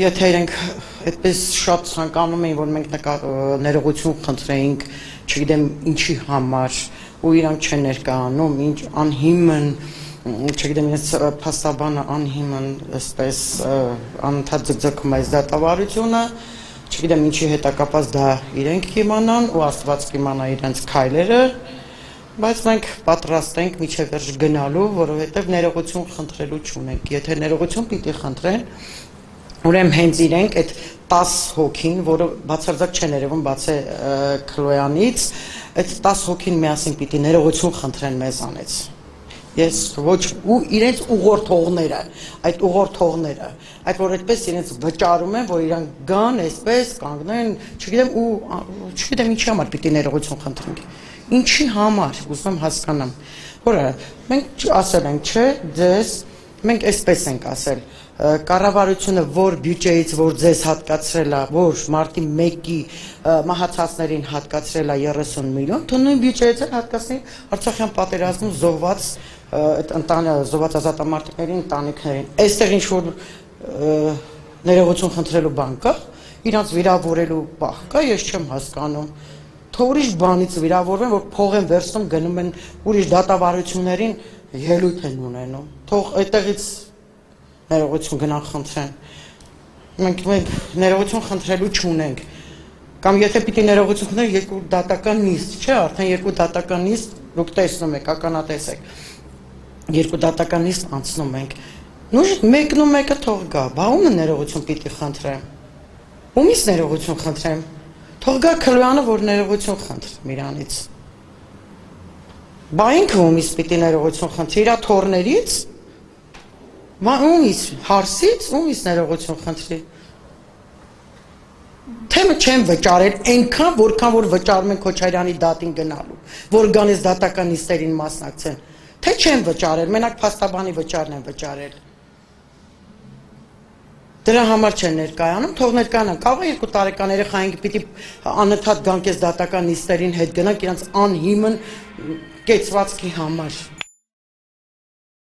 Եթե իրենք այդպես շատ ցանկանում էին, որ մենք ներողություն խնդրեինք, չգիտեմ ինչի համար, ու իրանք չեն ներկայանում, ինչ անհիմն, չգիտեմ իրենց փաստաբանը անհիմն, այսպես անընդհատ ձգձգում է այս դատավարությունը, չգիտեմ ինչի հետ է կապված դա իրենք կիմանան ու Աստված կիմանա իրենց քայլերը, բայց մենք պատրաստ ենք միջև վերջ գնալու, որովհետև ներողություն խնդրելու չունենք, եթե ներողություն պիտի խնդրեն, ուրեմն հենց իրենք այդ 10 հոգին, որը բացարձակ չեն երևում բացի Քլոյանից, այդ 10 հոգին միասին պիտի ներողություն խնդրեն մեզանից։ Ես ոչ ու իրենց ուղղորդողները, այդ ուղղորդողները, այդ որ այդպես իրենց վճարում են, որ իրանք գան, այսպես կանգնեն, չգիտեմ ինչի համար պիտի ներողություն խնդրենք։ Ինչի համար, ուզում եմ հասկանամ։ Որը մենք ասել ենք, չէ, ձեզ մենք այսպես ենք ասել, կառավարությունը որ բյուջեից որ ձեզ հատկացրել է, որ մարտի 1-ի մահացածներին հատկացրել է 30 միլիոն, թող նույն բյուջեից էլ հատկացնի Արցախյան պատերազմում զոհված զոհված ազատամարտիկների ընտանիքներին։ Այստեղ ինչ որ ներողություն խնդրելու բան կա, իրանց վիրավորելու պահ կա, ես չեմ հասկանում։ Թող ուրիշ բանից վիրավորվեն, որ փող են վերցնում, գնում են ուրիշ դատավարություններին ելույթ են ունենում։ Թող այդտեղից ներողություն գնան խնդրեն։ Մենք ներողություն խնդրելու չունենք։ Կամ եթե պիտի ներողություն խնդրեն, երկու դատական նիստ, չէ, արդեն երկու դատական նիստ դուք տեսնում եք, ականատես եք։ Երկու դատական նիստ անցնում ենք։ Նույն մեկն ու մեկը թող գա, բա ումը ներողություն պիտի խնդրեմ։ Ումից ներողություն խնդրեմ։ Թող գա Քլոյանը, որ ներողություն խնդրեմ իրանից։ Բա ինքը ումից պիտի ներողություն խնդրի, իր թորներից։ Ումից հարսից, ումից ներողություն խնդրի։ Թեմը չեմ վճարել այնքան, որքան որ վճարում են Քոչարյանի դատին գնալու, որ գանից դատական նիստերին մասնակցեն։ Թե չեմ վճարել, մենակ փաստաբանի վճարն են վճարել։ Դրա համար չեն ներկայանում, թող ներկայանան։ Կարող է 2 տարեկան երեխային պիտի անընդհատ գան կես դատական նիստերին հետ գնանք իրանց անհիմն կեցվածքի համար։